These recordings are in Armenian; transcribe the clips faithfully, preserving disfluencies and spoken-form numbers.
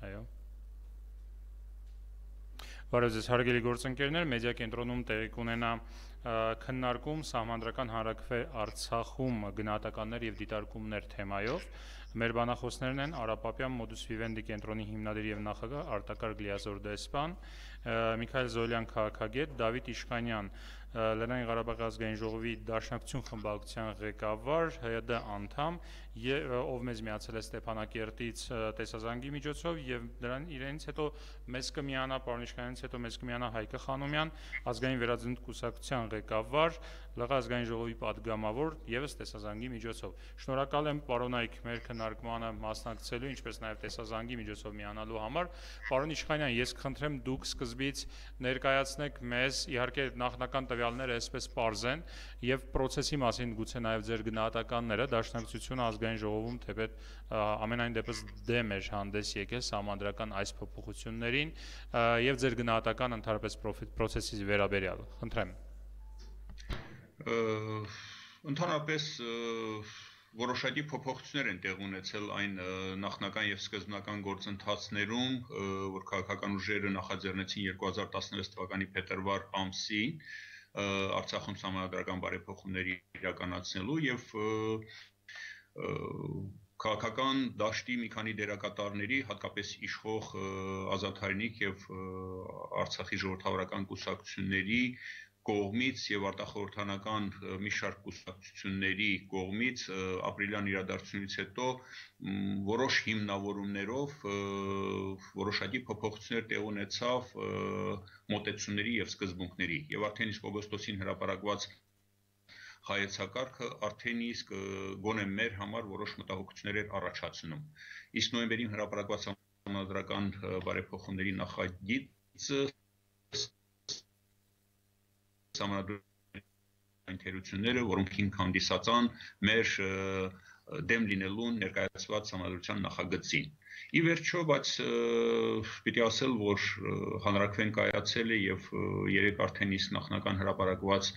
Այո։ Բարև ձեզ հարգելի գործընկերներ, մեդիա կենտրոնում տեղի կունենա քննարկում սահմանադրական հանրաքվե Արցախում գնահատականներ եւ դիտարկումներ թեմայով։ Մեր բանախոսներն են Արա Պապյան, Modus Vivendi կենտրոնի հիմնադիր եւ նախագահ Արտակարգ Լիազոր դեսպան, Միքայել Զոլյան քաղաքագետ, Դավիթ Իշխանյան, Լեռնային Ղարաբաղի ազգային ժողովի Դաշնակցություն խմբակցության ղեկավար, ՀՅԴ անդամ, ով մեզ միացել է Ստեփանակերտից տեսազանգի միջոցով եւ դրան իրենից հետո մեզ կմիանա պարոն Իշխանյանից հետո մեզ կմիանա Հայկը Խանոմյան, ազգային վերածնունդ կուսակցության ղեկավար, ԼՂ ազգային ժողովի падգամավոր եւս տեսազանգի միջոցով։ Շնորհակալ եմ պարոն Այք մեր քննարկմանը մասնակցելու, ինչպես նաեւ տեսազանգի միջոցով միանալու համար։ Պարոն Իշխանյան, ես կխնդրեմ դուք սկզբից ներկայացնեք մեզ, իհարկե նախնական տվյալները այսպես պարզ են եւ process-ի մասին գուցե նաեւ ձեր գնահատականները Դաշնակցությունը ազգային ժողովում թեպետ ամենայն դեպս դեմ էր հանդես եկել սահմանադրական այս փոփոխություններին եւ ձեր գնահատական ընդհանրապես process-ի վերաբերյալ։ Խնդրեմ։ Ընդհանրապես որոշակի փոփոխություններ են տեղ ունեցել այն նախնական եւ սկզբնական գործընթացներում, որ քաղաքական ուժերը նախաձեռնեցին երկու հազար տասնվեց թվականի փետրվար ամսին Արցախում սահմանադրական բարեփոխումների իրականացնելու եւ քաղաքական դաշտի մի քանի դերակատարների, հատկապես իշխող Ազատ Հայրենիք եւ Արցախի ժողովրդավարական կուսակցությունների կողմից եւ արտախորհրդանական մի շարք կուսակցությունների կողմից ապրիլյան իրադարձությունից հետո որոշ հիմնավորումներով որոշակի փոփոխություններ տեղ ունեցավ մոտեցումների եւ սկզբունքների եւ արդեն իսկ օգոստոսին հրապարակված հայեցակարգը արդեն իսկ գոնե մեր համար որոշ մտահոգություններ էր առաջացնում։ Իսկ նոյեմբերին հրապարակված սահմանադրական բարեփոխումների նախագիծը սահմանադրական թերությունները, որոնք հիմք հանդիսացան մեր դեմ լինելուն ներկայացված սահմանադրության նախագծին։ Ի վերջո, բայց պիտի ասել, որ հանրաքվեն կայացել է եւ երեք արդեն իսկ նախնական հրապարակված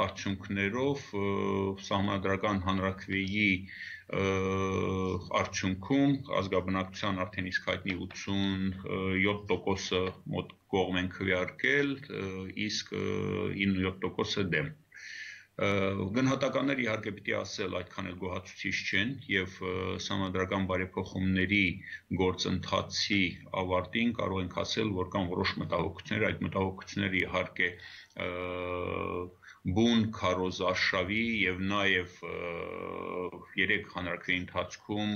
արդյունքներով սահմանադրական հանրաքվեի արդյունքում ազգաբնակչության արդեն իսկ հայտնի ութսունյոթ տոկոսը մոտ կողմ են քվեարկել, իսկ իննսունյոթ տոկոսը դեմ։ Գնահատականներ իհարկե պիտի ասել այդքան էլ գոհացուցիչ չեն եւ սահմանադրական բարեփոխումների գործընթացի ավարտին կարող ենք ասել, որ կան որոշ մտահոգություններ, այդ մտահոգությունները իհարկե բուն քարոզարշավի եւ նաեւ երեք հանրաքվեի ընթացքում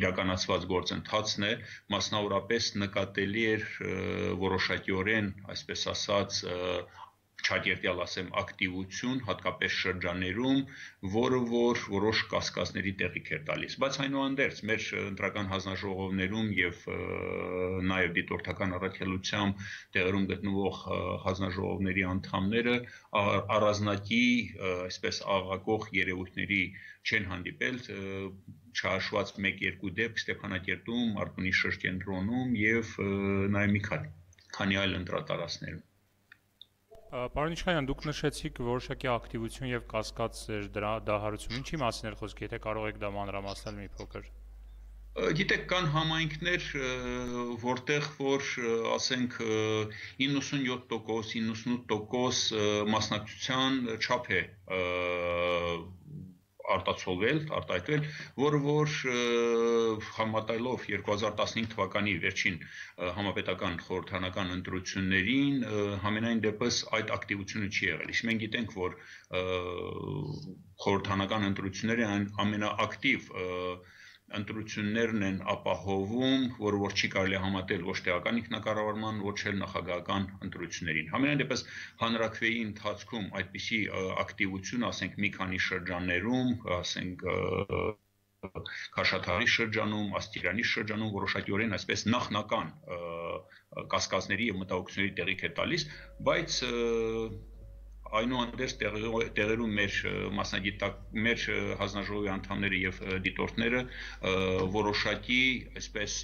իրականացված գործընթացն է, մասնավորապես նկատելի էր որոշակիորեն, այսպես ասած, չակերտյալ ասեմ ակտիվություն, հատկապես շրջաներում, որը որ որոշ կասկածների տեղիք էր տալիս։ Բայց այնուհանդերձ մեր ընտրական հանձնաժողովներում եւ նաեւ դիտորդական առաքելությամբ տեղերում գտնվող հանձնաժողովների անդամները առանձնակի, այսպես աղաղակող երևույթների չեն հանդիպել, չհաշված մեկ-երկու դեպք Ստեփանակերտում, Մարտունի շրջենտրոնում եւ նաեւ մի քանի այլ ընտրատարածքներում։ Պարոն Իշխանյան, դուք նշեցիք որոշակի ակտիվություն եւ կասկած էր դրա դահարություն։ Ինչի մասին էր խոսքը, եթե կարող եք դա մանրամասնել մի փոքր։ Գիտեք, կան համայնքներ, որտեղ որ ասենք իննսունյոթ տոկոս, իննսունութ տոկոս մասնակցության չափ է արտացոլվել, արտահայտվել, որը որ համատայելով երկու հազար տասնհինգ թվականի վերջին համապետական խորհրդարանական ընտրություններին համենայն դեպս այդ ակտիվությունը չի եղել։ Իսկ մենք գիտենք, որ խորհրդարանական ընտրությունները ամենաակտիվ ընտրություններն են ապահովում, որը որ չի կարելի համատել ոչ տեղական ինքնակառավարման, ոչ էլ նախագահական ընտրություններին։ Համենայն դեպս հանրաքվեի ընթացքում այդպիսի ակտիվություն, ասենք մի քանի շրջաններում, ասենք Քաշաթաղի շրջանում, Աստիարանի շրջանում որոշակիորեն այսպես նախնական կասկածների եւ մտահոգությունների տեղիք է տալիս, բայց այնուհանդերձ տեղերում մեր մասնագիտակ մեր հանձնաժողովի անդամները եւ դիտորդները որոշակի այսպես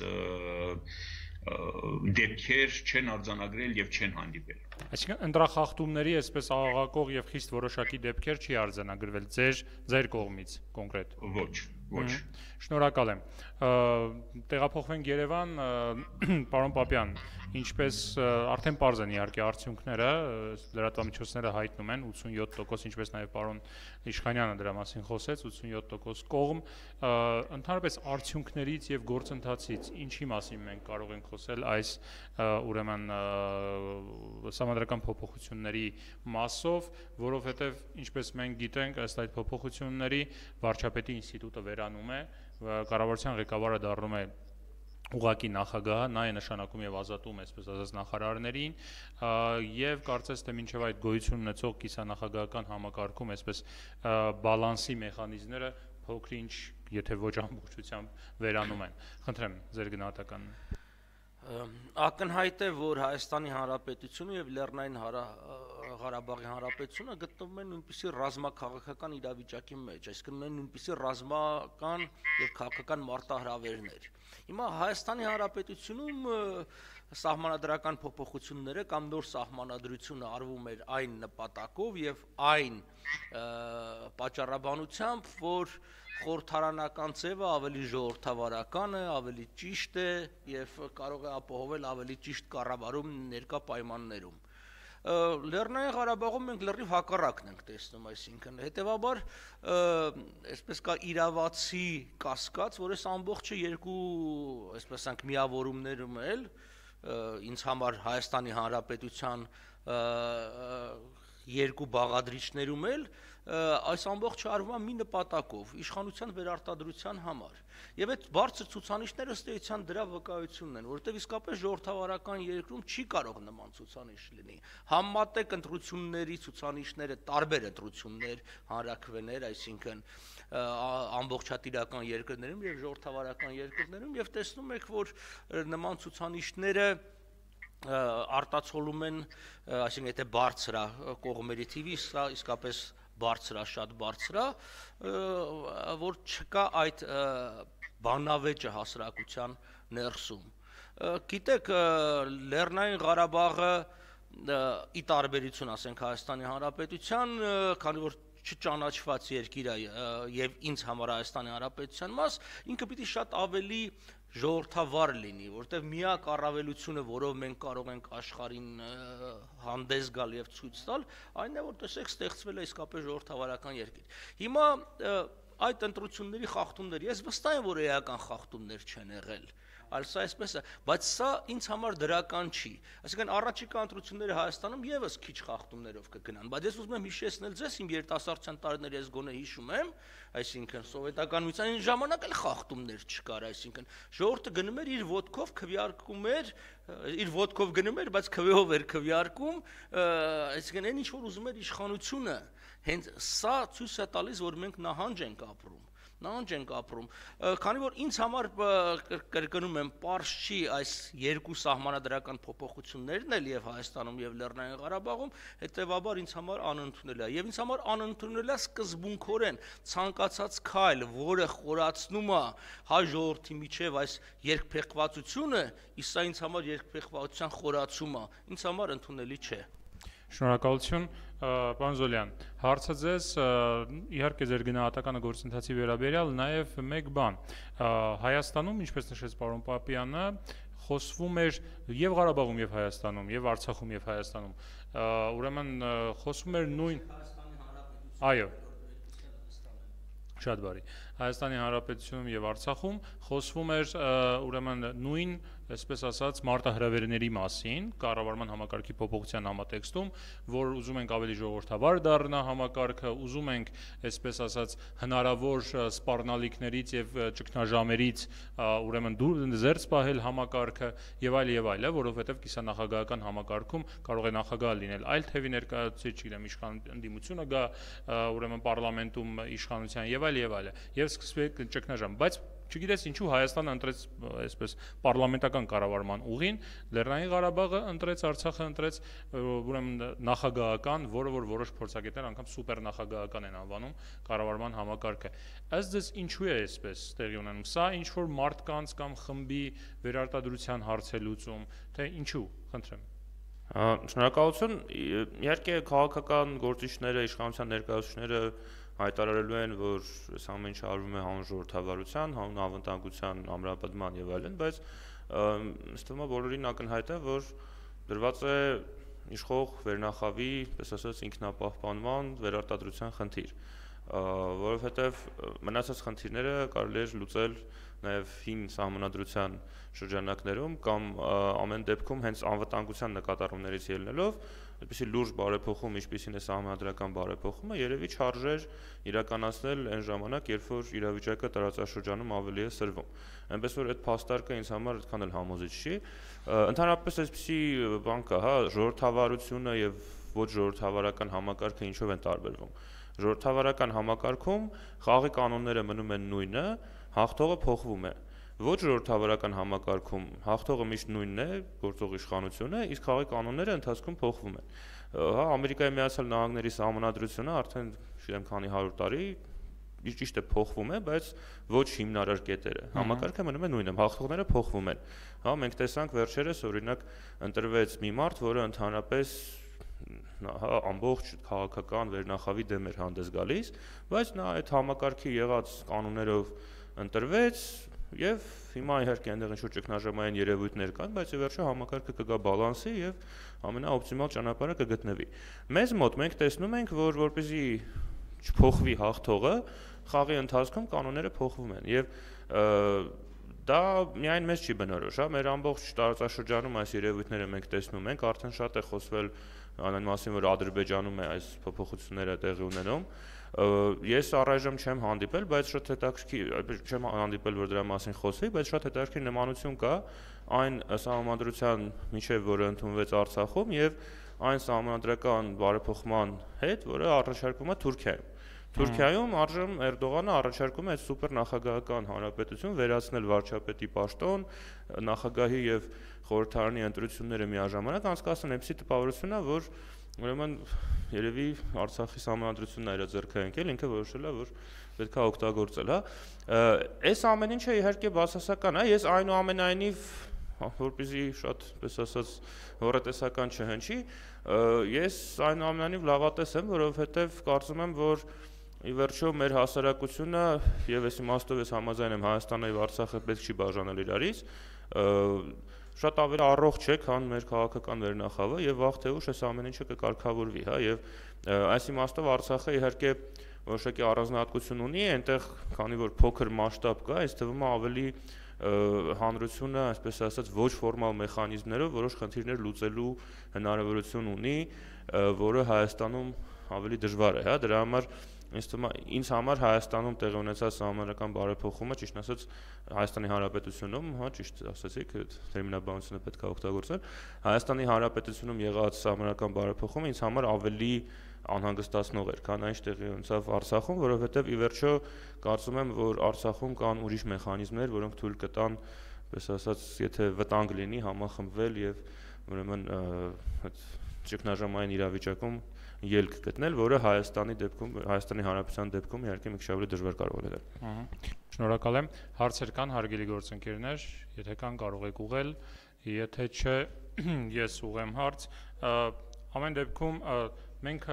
դեպքեր չեն արձանագրել եւ չեն հանդիպել։ Այսինքն ընտրախախտումների այսպես աղաղակող եւ խիստ որոշակի դեպքեր չի արձանագրվել ձեր ձեր կողմից կոնկրետ։ Ոչ, Ոչ։ Շնորհակալ եմ։ Տեղափոխվենք Երևան, պարոն Պապյան, ինչպես արդեն պարզ են իհարկե արդյունքները, լրատվամիջոցները հայտնում են ութսունյոթ տոկոս, ինչպես նաև պարոն Իշխանյանը դրա մասին խոսեց, ութսունյոթ տոկոս կողմ, ընդհանրապես արդյունքներից եւ գործընթացից ինչի մասին մենք կարող ենք խոսել այս ուրեմն սահմանադրական փոփոխությունների մասով, որովհետեւ ինչպես մենք գիտենք, ըստ այդ փոփոխությունների վարչապետի ինստիտուտը վերանում է, կառավարության ղեկավարը դառնում է ուղղակի նախագահ, նա է նշանակում եւ ազատում, այսպես ասած, նախարարներին, եւ կարծես թե մինչեւ այդ գոյություն ունեցող կիսանախագահական համակարգում, այսպես բալանսի մեխանիզմները փոքր-ինչ, եթե ոչ ամբողջությամբ վերանում են։ Խնդրեմ ձեր գնահատականն։ Ակնհայտ է, որ Հայաստանի Հանրապետությունը եւ Լեռնային Ղարաբաղի Հանրապետությունը գտնվում են նույնպիսի ռազմաքաղաքական իրավիճակի մեջ, այսինքն ունեն նույնպիսի ռազմական եւ քաղաքական մարտահրավերներ։ Հիմա Հայաստանի Հանրապետությունում սահմանադրական փոփոխությունները կամ նոր սահմանադրությունը արվում էր այն նպատակով եւ այն պատճառաբանությամբ, որ խորհրդարանական ձևը ավելի ժողովրդավարական է, ավելի ճիշտ է եւ կարող է ապահովել ավելի ճիշտ կառավարում ներկա պայմաններում։ Լեռնային Ղարաբաղում մենք լրիվ հակառակն ենք տեսնում, այսինքն հետեւաբար այսպես կա իրավացի կասկած, որ այս ամբողջը երկու, այսպես ասենք, միավորումներում էլ ինձ համար Հայաստանի Հանրապետության երկու բաղադրիչներում էլ այս ամբողջը արվում է մի նպատակով՝ իշխանության վերարտադրության համար։ Եվ այդ բարձր ցուցանիշները ըստ էության դրա վկայությունն են, որովհետև իսկապես ժողովրդավարական երկրում չի կարող նման ցուցանիշ լինի։ Համատեղ ընտրությունների ցուցանիշները տարբեր ընտրություններ, հանրաքվեներ, այսինքն ամբողջատիրական երկրներում եւ ժողովրդավարական երկրներում, եւ տեսնում եք, որ նման ցուցանիշները արտացոլում են, այսինքն եթե բարձր է կողմերի թիվի, սա իսկապես բարձր է, շատ բարձր է, որ չկա այդ բանավեճը հասարակության ներսում։ Գիտեք, Լեռնային Ղարաբաղը ի տարբերություն, ասենք, Հայաստանի Հանրապետության, քանի որ չճանաչված երկիր է եւ ինձ համար Հայաստանի Հանրապետության մաս, ինքը պիտի շատ ավելի ժողովրդավար լինի, որտեղ միակ առավելությունը, որով մենք կարող ենք աշխարհին հանդես գալ եւ ցույց տալ, այն է, որ տեսեք, ստեղծվել է իսկապես ժողովրդավարական երկիր։ Հիմա այդ ընտրությունների խախտումներ, ես վստահ եմ, որ էական խախտումներ չեն եղել, այլ սա այսպես է, բայց սա ինձ համար դրական չի։ Այսինքն առաջիկա ընտրությունները Հայաստանում եւս քիչ խախտումներով կգնան, բայց ես ուզում եմ հիշեցնել ձեզ, իմ երիտասարդության տարիների ես գոնե հիշում եմ, այսինքն սովետական միության ժամանակ էլ խախտումներ չկար, այսինքն ժողովուրդը գնում էր իր ոտքով քվեարկում էր, իր ոտքով գնում էր, բայց քվեով էր քվեարկում, այսինքն այն ինչ որ ուզում էր իշխանությունը, հենց սա ցույց է տալիս, որ մենք նահանջ ենք ապրում։ Նահանջ ենք ապրում, քանի որ ինձ համար կրկնում եմ, պարզ չի այս երկու սահմանադրական փոփոխություններն էլ եւ Հայաստանում եւ Լեռնային Ղարաբաղում, հետեւաբար ինձ համար անընդունել է եւ ինձ համար անընդունել է սկզբունքորեն ցանկացած քայլ, որը խորացնում է հայ ժողովրդի միջև այս երկփեղվածությունը, իսկ սա ինձ համար երկփեղվածության խորացում է, ինձ համար ընդունելի չէ։ Շնորհակալություն, պարոն Զոլյան, հարցը ձեզ, իհարկե ձեր գնահատականը գործընթացի վերաբերյալ, նաև մեկ բան, Հայաստանում, ինչպես նշեց պարոն Պապյանը, խոսվում էր եւ Ղարաբաղում եւ Հայաստանում, եւ Արցախում եւ Հայաստանում, ուրեմն խոսվում էր նույն, այո, շատ բարի, Հայաստանի Հանրապետությունում եւ Արցախում խոսվում էր ուրեմն նույն, այսպես ասած, մարտահրավերների մասին, կառավարման համակարգի փոփոխության համատեքստում, որ ուզում ենք ավելի ժողովրդավար դառնա համակարգը, ուզում ենք, այսպես ասած, հնարավոր սպառնալիքներից եւ ճգնաժամերից ուրեմն զերծ պահել համակարգը եւ այլ եւ այլ, որովհետեւ կիսանախագահական համակարգում կարող է նախագահ լինել այլ թևի ներկայացուցիչ, չգիտեմ, իշխան ընդդիմությունը գա ուրեմն պարլամենտում իշխանության եւ այլ եւ այլ եւ սկսվեց ճգնաժամ, բայց չգիտես ինչու Հայաստանը ընտրեց այսպես պարլամենտական կառավարման ուղին, Լեռնային Ղարաբաղը ընտրեց, Արցախը ընտրեց ուրեմն նախագահական, որը որ որոշ փորձագետներ անգամ սուպեր նախագահական են անվանում կառավարման համակարգը։ Ըստ ձեզ ինչու է այսպես տեղի ունենում։ Սա ինչ որ մարդկանց կամ խմբի վերարտադրության հարց է լուծում, թե ինչու, խնդրեմ։ Շնորհակալություն, իհարկե քաղաքական գործիչները, իշխանության ներկայացուցիչները հայտարարելու են, որ այս ամեն ինչ արվում է հանուն ժողովրդավարության, հանուն անվտանգության ամրապնդման եւ այլն, բայց ըստ ումա բոլորին ակնհայտ է, որ դրված է իշխող վերնախավի, պես ասած, ինքնապահպանման վերարտադրության խնդիր, որովհետեւ մնացած խնդիրները կարելի է լուծել նաև հին սահմանադրության շրջանակներում կամ ամեն դեպքում հենց անվտանգության նկատառումներից ելնելով, այդպիսի լուրջ բարեփոխում, ինչպիսին է սահմանադրական բարեփոխումը, երևի չարժեր իրականացնել այն ժամանակ, երբ որ իրավիճակը տարածաշրջանում ավելի է սրվում։ Այնպես որ այդ փաստարկը ինձ համար այդքան էլ համոզիչ չի։ Ընդհանրապես այսպիսի բան կա, հա, ժողովրդավարությունը եւ ոչ ժողովրդավարական համակարգը ինչով են տարբերվում։ Ժողովրդավարական համակարգում խաղի կանոնները մնում են նույնը, հաղթողը փոխվում է։ Ոչ ժողովրդավարական համակարգում հաղթողը միշտ նույնն է, գործող իշխանությունը, իսկ խաղի կանոնները ընթացքում փոխվում են։ Հա, Ամերիկայի Միացյալ Նահանգների սահմանադրությունը արդեն, չգիտեմ, քանի հարյուր տարի ճիշտ է փոխվում է, բայց ոչ հիմնարար կետերը։ Համակարգը մնում է նույնը, հաղթողները փոխվում են։ Հա, մենք տեսանք վերջերս, օրինակ, ընտրվեց մի մարդ, որը ընդհանրապես հա ամբողջ քաղաքական վերնախավի դեմ էր հանդես գալիս, բայց նա այդ համակարգի եղած կանոններով ընտրվեց եւ հիմա իհարկե այնտեղ ինչ-որ ճգնաժամային երևույթներ կան, բայց ի վերջո համակարգը կգա բալանսի եւ ամենաօպտիմալ ճանապարհը կգտնվի։ Մեզ մոտ մենք տեսնում ենք, որ որպեսզի չփոխվի հաղթողը, խաղի ընթացքում կանոնները փոխվում են եւ դա միայն մեզ չի բնորոշ, հա, մեր ամբողջ տարածաշրջանում այս երևույթները մենք տեսնում ենք, արդեն շատ է խոսվել այն մասին, որ Ադրբեջանում է այս փոփոխությունները տեղի ունենում։ Ես առայժմ չեմ հանդիպել, բայց շատ հետաքրքիր, չեմ հանդիպել, որ դրա մասին խոսվի, բայց շատ հետաքրքիր նմանություն կա այն սահմանադրության միջև, որը ընդունվեց Արցախում եւ այն սահմանադրական բարեփոխման հետ, որը առաջարկվում է Թուրքիայում։ Թուրքիայում այժմ Էրդողանը առաջարկում է այդ սուպեր նախագահական հանրապետություն վերացնել վարչապետի պաշտոն, նախագահի եւ խորհրդարանի ընտրությունները միաժամանակ անցկացնել, այնպիսի տպավորություն է, որ ուրեմն երևի Արցախի սահմանադրությունն է իր ձեռքը ընկել, ինքը որոշել է, որ պետք է օգտագործել, հա։ Այս ամեն ինչը իհարկե բացասական է, ես այնուամենայնիվ, որպեսզի շատ, պես ասած, հոռետեսական չհնչի, ես այնուամենայնիվ լավատես եմ, որովհետեւ կարծում եմ, որ ի վերջո մեր հասարակությունը եւ այս իմաստով ես համաձայն եմ Հայաստանը եւ Արցախը պետք չի բաժանել իրարից, շատ ավելի առողջ է, քան մեր քաղաքական վերնախավը եւ վաղ թե ուշ այս ամեն ինչը կկարգավորվի, հա, եւ այս իմաստով Արցախը իհարկե որոշակի առանձնահատկություն ունի, այնտեղ քանի որ փոքր մասշտաբ կա, այս թվում է ավելի հանրությունը, այսպես ասած, ոչ ֆորմալ մեխանիզմներով որոշ խնդիրներ լուծելու հնարավորություն ունի, որը Հայաստանում ավելի դժվար է, հա, դրա համար ինձ թվում է ինձ համար Հայաստանում տեղի ունեցած սահմանադրական բարեփոխումը, ճիշտ ասած, Հայաստանի Հանրապետությունում, հա, ճիշտ ասացիք, տերմինաբանությունը պետք է օգտագործել, Հայաստանի Հանրապետությունում եղած սահմանադրական բարեփոխումը ինձ համար ավելի անհանգստացնող էր, քան այն տեղի ունեցավ Արցախում, որովհետև ի վերջո կարծում եմ, որ Արցախում կան ուրիշ մեխանիզմներ, որոնք թույլ կտան, պես ասած, եթե վտանգ լինի, համախմբվել եւ ուրեմն այդ ճգնաժամային իրավիճակում ելք գտնել, որը Հայաստանի դեպքում, Հայաստանի Հանրապետության դեպքում իհարկե մի քիչ ավելի դժվար կարող է լինել։ Ահա։ Շնորհակալ եմ։ Հարցեր կան, հարգելի գործընկերներ, եթե կան կարող եք ուղղել, եթե չէ, ես ուղղեմ հարց։ Ամեն դեպքում մենք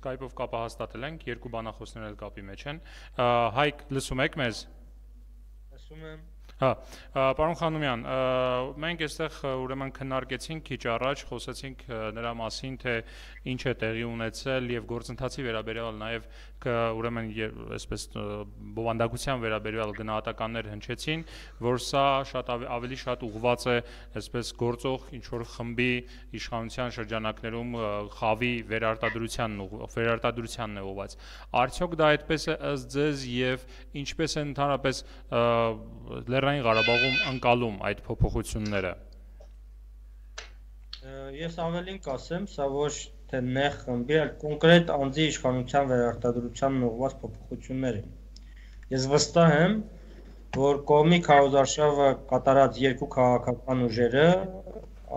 Skype-ով կապը հաստատել ենք, երկու բանախոսներ էլ կապի մեջ են։ Հայկ, լսում եք մեզ։ Լսում եմ։ Հա, պարոն Խանոմյան, մենք այստեղ ուրեմն քննարկեցինք քիչ առաջ, խոսեցինք նրա մասին, թե ինչ է տեղի ունեցել եւ գործընթացի վերաբերյալ նաեւ ուրեմն այսպես բովանդակության վերաբերյալ գնահատականներ հնչեցին, որ սա շատ ավելի շատ ուղղված է այսպես գործող ինչ որ խմբի իշխանության շրջանակներում խավի վերարտադրությանն վերարտադրությանն է ուղղված։ Արդյոք դա այդպես է ըստ ձեզ եւ ինչպես է ընդհանրապես Լեռնային Ղարաբաղում ընկալում այդ փոփոխությունները։ Ես ավելին կասեմ, սա ոչ թե նեղ խմբի, այլ կոնկրետ անձի իշխանության վերարտադրությանն ուղղված փոփոխություններ են։ Ես վստահ եմ, որ կողմի քարոզարշավը կատարած երկու քաղաքական ուժերը,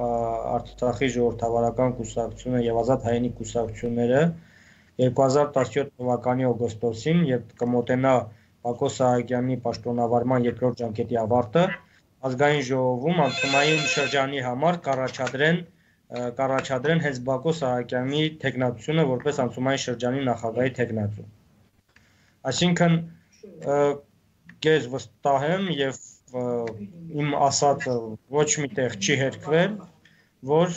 Արցախի ժողովրդավարական կուսակցությունը եւ Ազատ հայինի կուսակցությունները երկու հազար տասնյոթ թվականի օգոստոսին, երբ կմոտենա Բակո Սահակյանի պաշտոնավարման երկրորդ ջանքետի ավարտը, ազգային ժողովում անցումային շրջանի համար կառաջադրեն կառաջադրեն հենց Բակո Սահակյանի թեկնածությունը որպես անցումային շրջանի նախագահի թեկնածու։ Այսինքն գեզ վստահ եմ եւ իմ ասածը ոչ միտեղ չի հերքվել, որ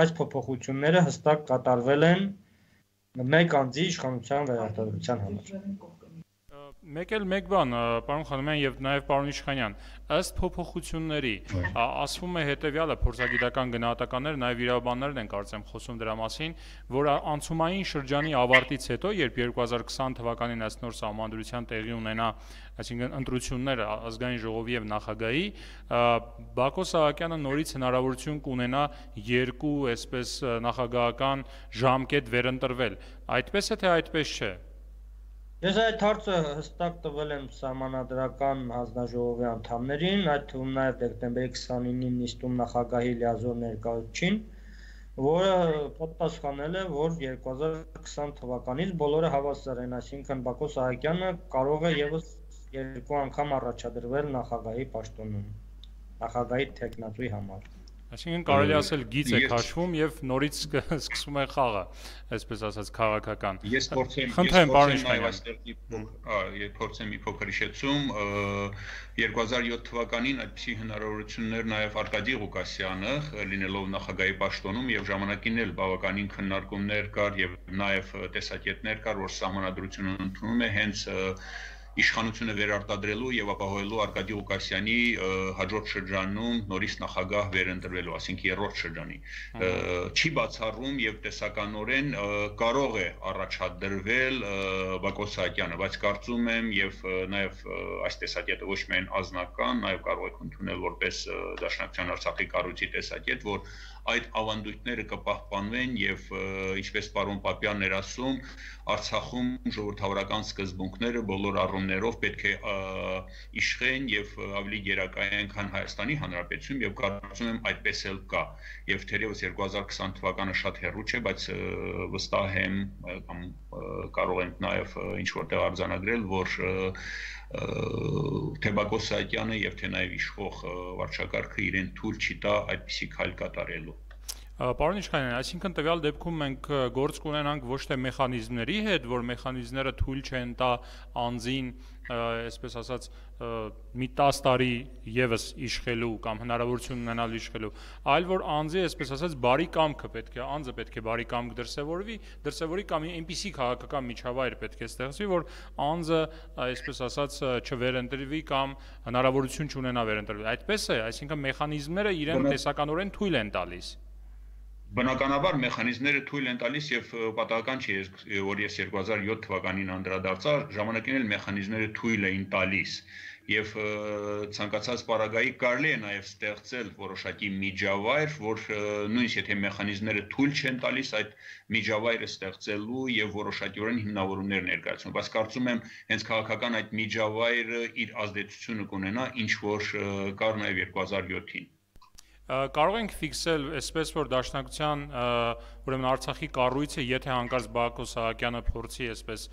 այս փոփոխությունները հստակ կատարվել են մեկ անձի իշխանության վերարտադրության համար։ Մեկ էլ մեկ բան, պարոն Խանոմյան եւ նաեւ պարոն Իշխանյան, ըստ փոփոխությունների ասվում է հետեւյալը, փորձագիտական գնահատականները, նաեւ իրավաբաններն են կարծեմ խոսում դրա մասին, որ անցումային շրջանի ավարտից հետո, երբ երկու հազար քսան թվականին ըստ նոր սահմանադրության տեղի ունենա, այսինքն ընտրությունները ազգային ժողովի եւ նախագահի, Բակո Սահակյանը նորից հնարավորություն կունենա երկու, այսպես նախագահական ժամկետ վերընտրվել։ Այդպես է թե այդպես չէ։ Ես այդ հարցը հստակ տվել եմ սահմանադրական հանձնաժողովի անդամներին, այդ թվում նաև դեկտեմբերի քսանինին նիստում նախագահի լիազոր ներկայացուցիչին, որը պատասխանել է, որ երկու հազար քսան թվականից բոլորը հավասար են, այսինքն Բակո Սահակյանը կարող է եւս երկու անգամ առաջադրվել նախագահի պաշտոնում, նախագահի թեկնածուի համար։ Այսինքն կարելի ասել գիծ է քաշվում եւ նորից սկսվում է խաղը, այսպես ասած քաղաքական։ Ես փորձեմ խնդրեմ պարոն Իշխանյան, փորձեմ մի փոքր հիշեցում, երկու հազար յոթ թվականին այդպիսի հնարավորություններ նաեւ Արկադի Ղուկասյանը, լինելով նախագահի պաշտոնում եւ ժամանակին էլ բավականին քննարկումներ կար եւ նաեւ տեսակետներ կար, որ սահմանադրությունը ընդունում է հենց իշխանությունը վերարտադրելու եւ ապահովելու Արկադի Ղուկասյանի հաջորդ շրջանում նորից նախագահ վերընտրվելու, այսինքն երրորդ շրջանի։ Չի բացառում եւ տեսականորեն կարող է առաջադրվել Բակո Սահակյանը, բայց կարծում եմ եւ նաեւ այս տեսակետը ոչ միայն անձնական, նաեւ կարող եք ընդունել որպես Դաշնակցության Արցախի կառույցի տեսակետ, որ այդ ավանդույթները կպահպանվեն եւ ինչպես պարոն Պապյանն էր ասում, Արցախում ժողովրդավարական սկզբունքները բոլոր առումներով պետք է իշխեն եւ ավելի գերակայեն, քան Հայաստանի Հանրապետություն եւ կարծում եմ այդպես էլ կա։ Եվ թերևս երկու հազար քսան թվականը շատ հեռու չէ, բայց վստահ եմ կամ կարող ենք նաեւ ինչ որտեղ արձանագրել, որ թե Բակո Սահակյանը եւ թե նաեւ իշխող վարչակարգը իրեն թույլ չի տա այդպիսի քայլ կատարելու։ Պարոն Իշխանյան, այսինքն տվյալ դեպքում մենք գործ կունենանք ոչ թե մեխանիզմների հետ, որ մեխանիզմները թույլ չեն տա անձին, այսպես ասած, մի տասը տարի եւս իշխելու կամ հնարավորություն ունենալ իշխելու, այլ որ անձի, այսպես ասած, բարի կամքը պետք է, անձը պետք է բարի կամք դրսևորվի, դրսևորի կամ այնպիսի քաղաքական միջավայր պետք է ստեղծվի, որ անձը, այսպես ասած, չվերընտրվի կամ հնարավորություն չունենա վերընտրվել։ Այդպես է, այսինքն մեխանիզմները իրեն տեսականորեն թույլ են տալիս։ Բնականաբար մեխանիզմները թույլ են տալիս եւ պատահական չի, որ ես երկու հազար յոթ թվականին անդրադարձա, ժամանակին էլ մեխանիզմները թույլ էին տալիս եւ ցանկացած պարագայի կարելի է նաեւ ստեղծել որոշակի միջավայր, որ նույնիսկ եթե մեխանիզմները թույլ չեն տալիս այդ միջավայրը ստեղծելու եւ որոշակիորեն հիմնավորումներ ներկայացնում, բայց կարծում եմ հենց քաղաքական այդ միջավայրը իր ազդեցությունը կունենա, ինչ որ կար նաեւ երկու հազար յոթին։ Կարող ենք ֆիքսել, այսպես որ Դաշնակցության, ուրեմն Արցախի կառույցը, եթե հանկարծ Բակո Սահակյանը փորձի այսպես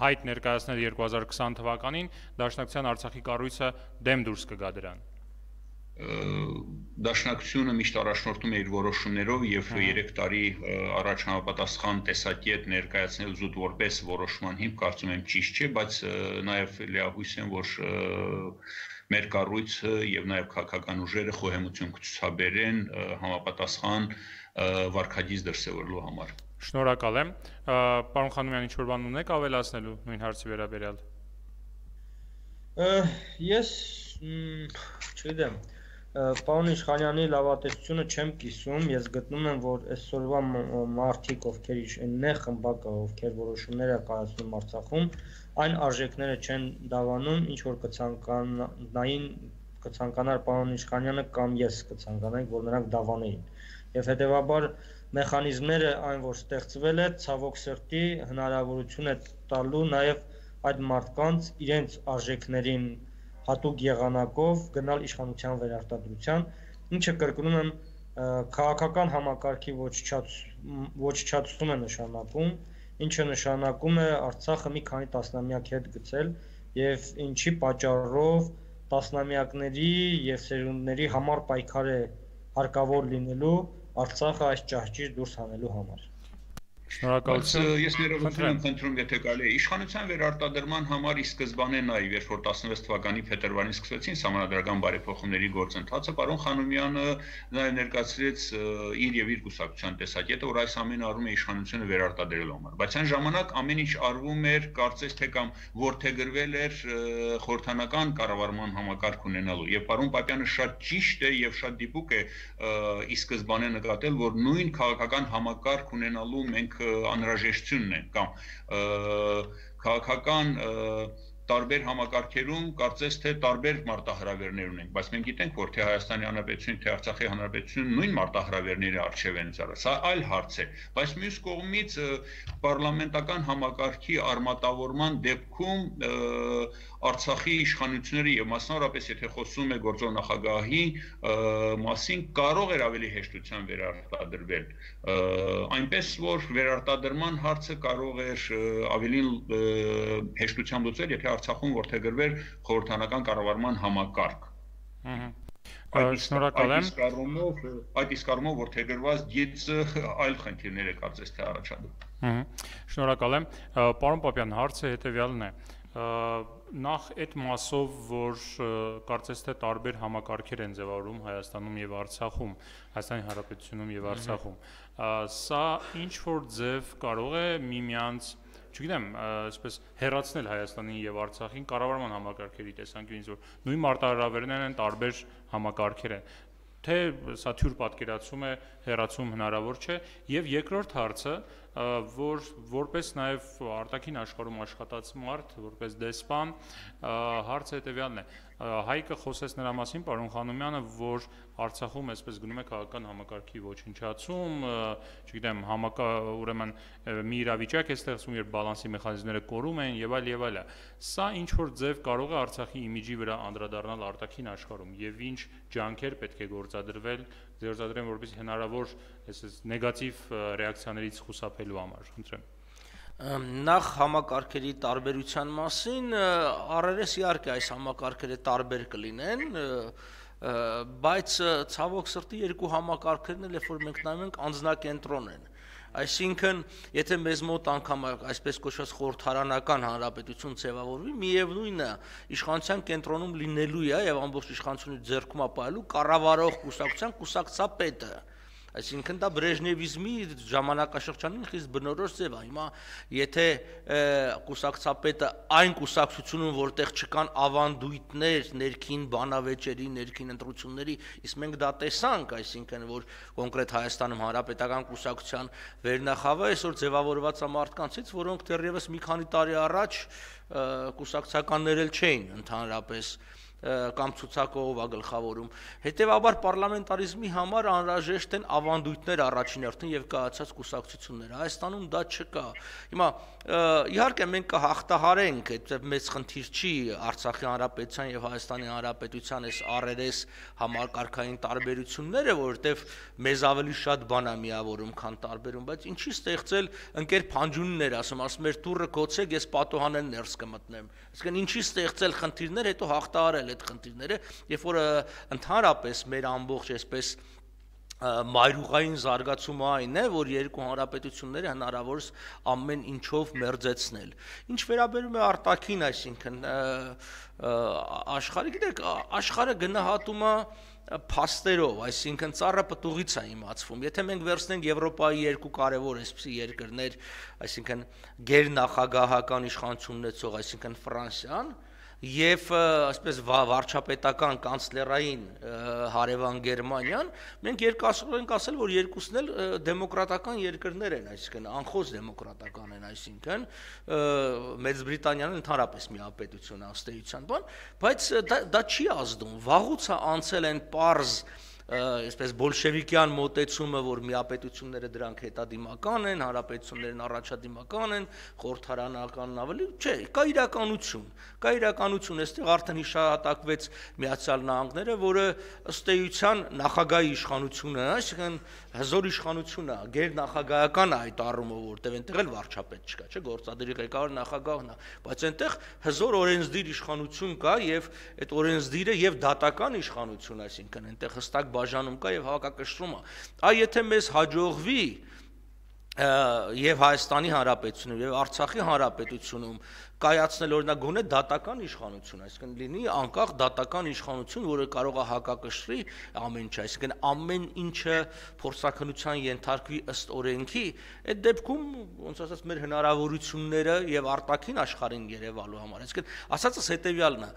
հայտ ներկայացնել երկու հազար քսան թվականին, Դաշնակցության Արցախի կառույցը դեմ դուրս կգա դրան։ Դաշնակցությունը միշտ առաջնորդում է իր որոշումներով եւ երեք տարի առաջ համապատասխան տեսակետ ներկայացնել զուտ որպես որոշման հիմք, կարծում եմ ճիշտ չէ, բայց նաեւ լիահույս եմ, որ մեր կառույցը եւ նաեւ քաղաքական ուժերը խոհեմություն կցուցաբերեն համապատասխան վարքագիծ դրսևորելու համար։ Շնորհակալ եմ։ Պարոն Խանոմյան, ինչ-որ բան ունեք ավելացնելու նույն հարցի վերաբերյալ։ Ես չգիտեմ, պարոն Իշխանյանի լավատեսությունը չեմ կիսում, ես գտնում եմ, որ այսօրվա մարդիկ, ովքեր նեղ խմբակը, ովքեր որոշումներ է կայացնում Արցախում, այն արժեքները չեն դավանում, ինչ որ կցանկանային կցանկանար պարոն Իշխանյանը կամ ես կցանկանայինք, որ նրանք դավանեին։ Եվ հետեւաբար մեխանիզմները այն, որ ստեղծվել է, ցավոք սրտի հնարավորություն է տալու նաև այդ մարդկանց իրենց արժեքներին հատուկ եղանակով գնալ իշխանության վերարտադրության, ինչը կրկնում եմ քաղաքական համակարգի ոչնչացում է նշանակում, ինչը նշանակում է Արցախը մի քանի տասնամյակ հետ գցել եւ ինչի պատճառով տասնամյակների եւ սերունդների համար պայքար է հարկավոր լինելու Արցախը այս ճահճից դուրս հանելու համար։ Շնորհակալություն։ Ես ներողություն եմ խնդրում, եթե կարելի է իշխանության վերարտադրման համար ի սկզբանե նաև երբ որ տասնվեց թվականի փետրվարին սկսվեցին համանդրական բարեփոխումների գործընթացը, պարոն Խանոմյանը նաև ներկայացրեց իր եւ իր կուսակցության տեսակետը, որ այս ամենը արվում է իշխանությունը վերարտադրելու համար, բայց այն ժամանակ ամեն ինչ արվում էր կարծես թե կամ որդեգրվել էր խորհրդանական կառավարման համակարգ ունենալու եւ պարոն Պապյանը շատ ճիշտ է եւ շատ դիպուկ է ի սկզբանե նկատել, որ նույն քաղաքական համակարգ ունենալու մենք անհրաժեշտությունն է կամ քաղաքական տարբեր համակարգերում կարծես թե տարբեր մարտահրավերներ ունենք, բայց մենք գիտենք, որ թե Հայաստանի Հանրապետություն, թե Արցախի Հանրապետություն նույն մարտահրավերների առջև են ծառայ։ Սա այլ հարց է, բայց մյուս կողմից պարլամենտական համակարգի արմատավորման դեպքում Արցախի իշխանությունները եւ մասնավորապես եթե խոսում է գործող նախագահի մասին կարող էր ավելի հեշտությամբ վերարտադրվել, այնպես որ վերարտադրման հարցը կարող էր ավելի հեշտությամբ լուծվել, եթե Արցախում որդեգրվեր խորհրդանական կառավարման համակարգ։ Շնորհակալ եմ։ Այդ իսկ առումով որդեգրված գիծը այլ խնդիրներ է կարծես թե առաջադրում։ Շնորհակալ եմ։ Պարոն Պապյան, հարցը հետեւյալն է։ Նախ այդ մասով, որ կարծես թե տարբեր համակարգեր են ձևավորում Հայաստանում եւ Արցախում, Հայաստանի Հանրապետությունում եւ Արցախում, սա ինչ որ ձև կարող է միմյանց, չգիտեմ, այսպես հեռացնել Հայաստանին եւ Արցախին կառավարման համակարգերի տեսանկյունից, որ նույն մարտահրավերներն են, տարբեր համակարգեր են, թե սա թյուր պատկերացում է, հեռացում հնարավոր չէ, եւ երկրորդ հարցը, որ որպես նաև արտաքին աշխարհում աշխատած մարդ, որպես դեսպան, հարցը հետևյալն է։ Հայկը խոսեց նրա մասին, պարոն Խանոմյանը, որ Արցախում այսպես գնում է քաղաքական համակարգի ոչնչացում, չգիտեմ, ուրեմն մի իրավիճակ է ստեղծվում, երբ բալանսի մեխանիզմները կորում են եւ այլ եւ այլը։ Սա ինչ որ ձև կարող է Արցախի իմիջի վրա անդրադառնալ արտաքին աշխարհում եւ ինչ ջանքեր պետք է գործադրվել, գործադրեն, որպեսզի հնարավոր այսպես նեգատիվ ռեակցիաներից խուսափելու համար, խնդրեմ։ Նախ համակարգերի տարբերության մասին, առերես իհարկե այս համակարգերը տարբեր կլինեն, բայց ցավոք սրտի երկու համակարգերն էլ երբ որ մենք նայում ենք անձնակենտրոն են։ Այսինքն, եթե մեզ մոտ անգամ այսպես կոչված խորհրդարանական հանրապետություն ձևավորվի, միևնույնն է, իշխանության կենտրոնում լինելու է եւ ամբողջ իշխանությունը ձեռքում ապահովելու կառավարող կուսակցության կուսակցապետը։ Այսինքն դա բրեժնևիզմի ժամանակաշրջանին խիստ բնորոշ ձև է։ Հիմա եթե կուսակցապետը այն կուսակցությունում, որտեղ չկան ավանդույթներ ներքին բանավեճերի, ներքին ընտրությունների, իսկ մենք դա տեսանք, այսինքն որ կոնկրետ Հայաստանում հանրապետական կուսակցության վերնախավը այսօր ձևավորված է մարդկանցից, որոնք դեռևս մի քանի տարի առաջ կուսակցականներ էլ չէին ընդհանրապես կամ ցուցակողով է գլխավորում։ Հետևաբար պարլամենտարիզմի համար անհրաժեշտ են ավանդույթներ առաջին հերթին եւ կայացած կուսակցությունները։ Հայաստանում դա չկա։ Հիմա իհարկե մենք կհաղթահարենք, այդ մեծ խնդիր չի Արցախի Հանրապետության եւ Հայաստանի Հանրապետության այս առերես համակարգային տարբերությունները, որովհետեւ մեզ ավելի շատ բան է միավորում, քան տարբերում, բայց ինչի ստեղծել ընկեր Փանջունիներ, ասում, ասում էր դուռը գոցեք, ես պատոհանեն ներս կմտնեմ։ Այսինքն ինչի ստեղծել խնդիրներ, հետո հաղթահարել այդ խնդիրները, երբ որ ընդհանրապես մեր ամբողջ այսպես մայրուղային զարգացումը այն է, որ երկու հանրապետությունները հնարավորս ամեն ինչով մերձեցնել։ Ինչ վերաբերում է արտաքին, այսինքն աշխարհը, գիտեք, աշխարհը գնահատում է փաստերով, այսինքն ծառը պտուղից է իմացվում։ Եթե մենք վերցնենք Եվրոպայի երկու կարևոր այսպիսի երկրներ, այսինքն գերնախագահական իշխանություն ունեցող, այսինքն Ֆրանսիան եւ այսպես վարչապետական կանցլերային հարևան Գերմանիան, մենք երկասորեն ենք ասել, որ երկուսն էլ դեմոկրատական երկրներ են, այսինքն անխոս դեմոկրատական են, այսինքն Մեծ Բրիտանիան ընդհանրապես միապետություն է ըստ էության բան, բայց դա, դա չի ազդում, վաղուց անցել են պարզ այսպես բոլշևիկյան մոտեցումը, որ միապետությունները դրանք հետադիմական են, հանրապետություններն առաջադիմական են, խորհրդարանականն ավելի, չէ, կա իրականություն, կա իրականություն, այստեղ արդեն հիշատակվեց Միացյալ Նահանգները, որը ըստ էության նախագահի իշխանությունը, այսինքն հզոր իշխանություն է, գերնախագահական է այդ առումով, որտեղ այնտեղ էլ վարչապետ չկա, չէ, գործադիրի ղեկավար նախագահն է, բայց այնտեղ հզոր օրենսդիր իշխանություն կա եւ այդ օրենսդիրը եւ դատական իշխանություն, այսինքն այնտեղ հստակ բաժանում կա եւ հավաքակշռում է։ Այ եթե մեզ հաջողվի եւ Հայաստանի Հանրապետությունում եւ Արցախի Հանրապետությունում կայացնել օրինակ գոնե դատական իշխանություն, այսինքն լինի անկախ դատական իշխանություն, որը կարող է հակակշռի ամեն ինչ, այսինքն ամեն ինչը փորձաքննության ենթարկվի ըստ օրենքի, այդ դեպքում ոնց ասած մեր հնարավորությունները եւ արտաքին աշխարհին երևալու համար, այսինքն ասածս հետեւյալն է,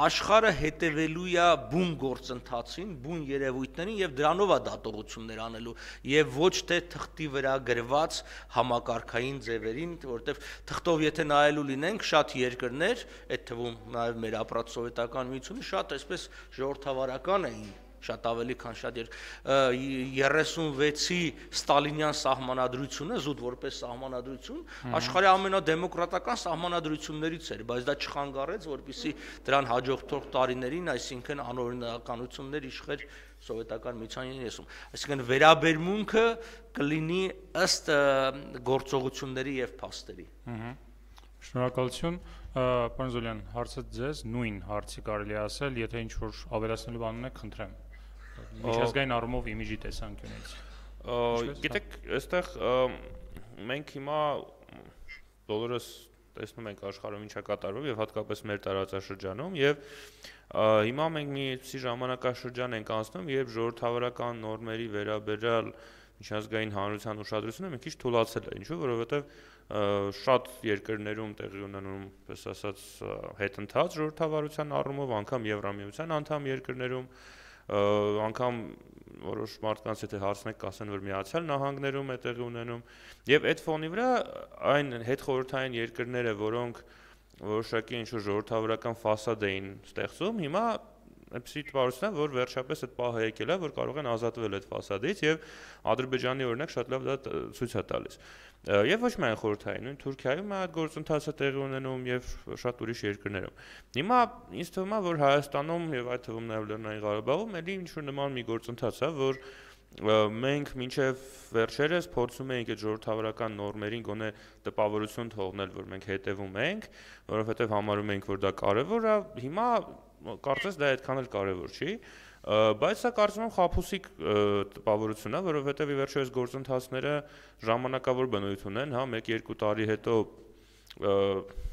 աշխարհը հետևելու է բուն գործընթացին, բուն երևույթներին եւ դրանով է դատողություններ անելու եւ ոչ թե թղթի վրա գրված համակարգային ձևերին, որովհետեւ թղթով եթե նայելու լինենք շատ երկրներ, այդ թվում նաև մեր ապրած սովետական միությունը շատ այսպես ժողովրդավարական էին, շատ ավելի քան շատ երեսունվեցի ստալինյան սահմանադրությունը զուտ որպես սահմանադրություն աշխարհի ամենադեմոկրատական սահմանադրություններից էր, բայց դա չխանգարեց, որպեսզի դրան հաջորդող տարիներին, այսինքն անօրինականություններ իշխեր սովետական միության ներսում, այսինքն վերաբերմունքը կլինի ըստ գործողությունների եւ փաստերի։ Շնորհակալություն, պարոն Զոլյան, հարցը ձեզ նույն հարցի կարելի ասել, եթե ինչ-որ ավելացնելու բան ունեք, խնդրեմ։ Միջազգային առումով իմիջի տեսանկյունից։ Գիտեք, այստեղ մենք հիմա բոլորս տեսնում ենք աշխարհում ինչա կատարվում եւ հատկապես մեր տարածաշրջանում եւ հիմա մենք մի ժամանակաշրջան ենք անցնում, երբ ժողովրդավարական նորմերի վերաբերյալ միջազգային հանրության ուշադրությունը մի քիչ թուլացել է, ինչու, որովհետեւ շատ երկրներում տեղի ունենում, պես ասած, հետընթաց ժողովրդավարության առումով, անգամ Եվրամիության անդամ երկրներում, անգամ որոշ մարդկանց եթե հարցնեք, կասեն, որ Միացյալ Նահանգներում է տեղի ունենում, եւ այդ ֆոնի վրա այն հետխորհրդային երկրները, որոնք որոշակի ինչ-որ ժողովրդավարական ֆասադ էին ստեղծում, հիմա այնպեսի տպավորություն է, որ վերջապես այդ պահը եկել է, որ կարող են ազատվել այդ ֆասադից եւ Ադրբեջանի օրինակ շատ լավ դա ցույց է տալիս։ Եվ ոչ միայն խորհրդային, նույն Թուրքիայում այդ գործընթացը տեղի ունենում եւ շատ ուրիշ երկրներում։ Հիմա ինձ թվում է, որ Հայաստանում եւ այդ թվում նաեւ Լեռնային Ղարաբաղում էլի ինչ-որ նման մի գործընթաց է, որ մենք մինչև վերջերս փորձում էինք այդ ժողովրդավարական նորմերին գոնե տպավորություն թողնել, որ մենք հետևում ենք, որովհետեւ համարում ենք, որ դա կարեւոր է, հիմա կարծես դա այդքան էլ կարևոր չի, բայց սա կարծում եմ խաբուսիկ տպավորություն է, որովհետև ի վերջո այս գործընթացները ժամանակավոր բնույթ ունեն, հա, մեկ-երկու տարի հետո